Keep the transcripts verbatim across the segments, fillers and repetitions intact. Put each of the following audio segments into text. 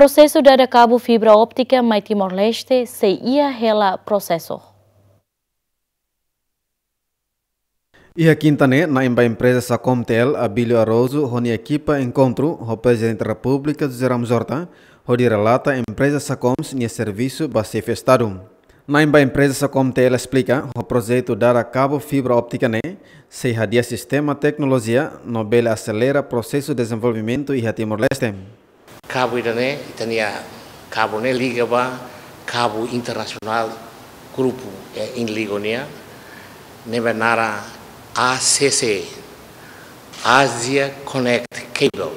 Prosesu dada kabu fibra óptika mai Timor-Leste sei iha hela prosesu. Iha kinta ne'e, na'in ba empreza Sacom T L, Abílio Araújo, ho nia ekipa enkontru ho Prezidente Repúblika José Ramos Horta, hodi relata empreza Sacom nia servisu ba Xefe Estadu. Na'in ba empreza Sacom T L esplika, ho projetu dada kabu fibra óptika ne'e, sei hadi'a sistema teknolojia no bele aselera prosesu dezenvolvimentu iha Timor-Leste. Kabu ida-ne'e, ita-nia kabu ne'e liga ba kabu internasionál grupu, eh, Inligo nian, ne'ebé naran A C C, Asia Connect Cable.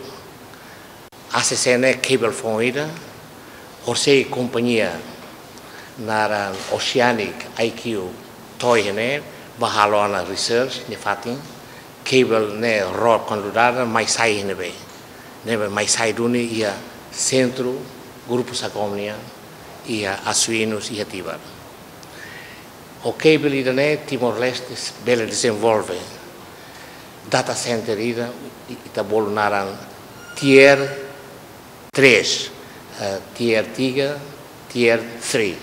A C C ne'e cable foun ida, horisehik kompañia naran Oceanic I Q to'o iha ne'e, bá halo ona research nia fatin, cable ne'e ró kuandu dada mai sai iha ne'ebé. Ne'ebé mai sai duni iha sentru grupu Sacom nian, iha Assuínos, iha Tibar. Ho cable ida-ne'e Timor-Leste bele dezenvolve data center ida, i-, ita bolu naran tier três, eh, tier tiga, tier three,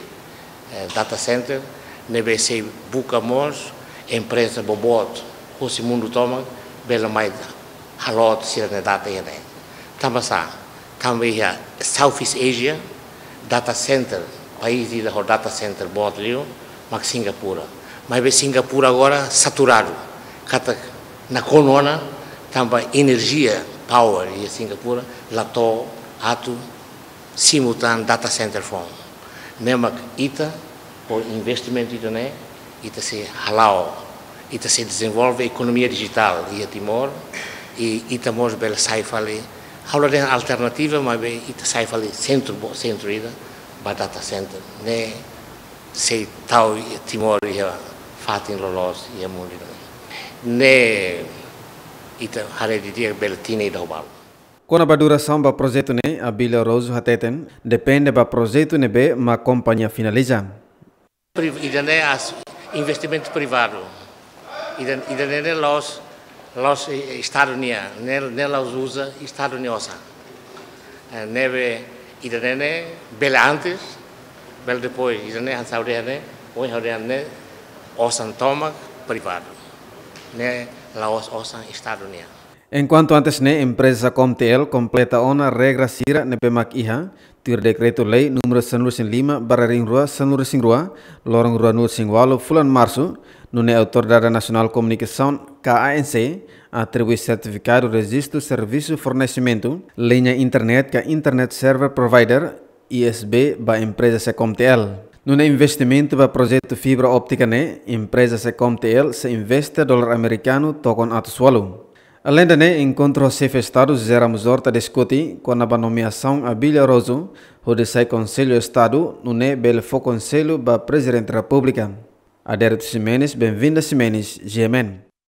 eh, data center, ne'ebé sei buka mós empreza boboot husi mundu tomak bele mai halo sira-nia data iha ne'e. Tanba sá? Tanba iha Southeast Asia, data center, país ida ho data center boot liu, mak Singapura. Maibé Singapura agora saturadu. Katak nakonu ona, tanba enerjia, power iha Singapura la to'o atu simu tan data center foun. Ne'e mak ita, ho investimentu ida-ne'e, ita sei hala'o, ita sei dezenvolve ekonomia dijitál iha Timor, i ita mós bele sai fali, ha'u la dehan alternativa, maibé ita sai fali sentru, bo-, sentru ida ba data center. Ne'e sei tau Timor iha fatin loloos iha mundu ida-ne'e. Ne'e ita haree didi'ak bele tinan ida ho balu. Kona-ba durasaun ba projetu ne'e, Abílio Araújo hateten, depende ba projetu ne'ebé mak kompañia finaliza. Priv-, ida-ne'e as-, investimentu privadu. Ida, ida-ne'e ne'e la'ós, la'ós, eh, Estadu nian, ne'e, ne'e la'ós uza Estadu nia osan. Eh, ne'ebé ida-ne'e ne'e bele antes, bele depois, ida-ne'e hanesan ha'u dehan ne'e, ohin ha'u dehan ne'e, osan tomak privadu. Ne'e la'ós osan Estadu nian. Enkuantu antes ne'e, empreza Sacom T L kompleta ona regra sira ne'ebé mak iha tuir Dekretu-Lei númeru sanulu-resin-lima barra rihun rua sanulu-resin-rua, loron ruanulu-resin-ualu fulan Marsu, nune'e Autoridade Nasionál Komunikasaun, K A N C, atribui sertifikadu rejistu servisu fornesimentu liña internet ka internet service provider, I S P, ba empreza Sacom T L. Nune'e investimentu ba projetu fibra óptika ne'e, empreza Sacom T L sei investe dolar amerikanu tokon atus ualu. Aleinde ne'e, enkontru ho Xefe Estadu José Ramos Horta diskute kona-ba nomeasaun Abílio Araújo hodi sai Konsellu Estadu, nune'e bele fó konsellu ba Prezidente Repúblika. Adérito Ximenes, Benvinda Ximenes, G M N.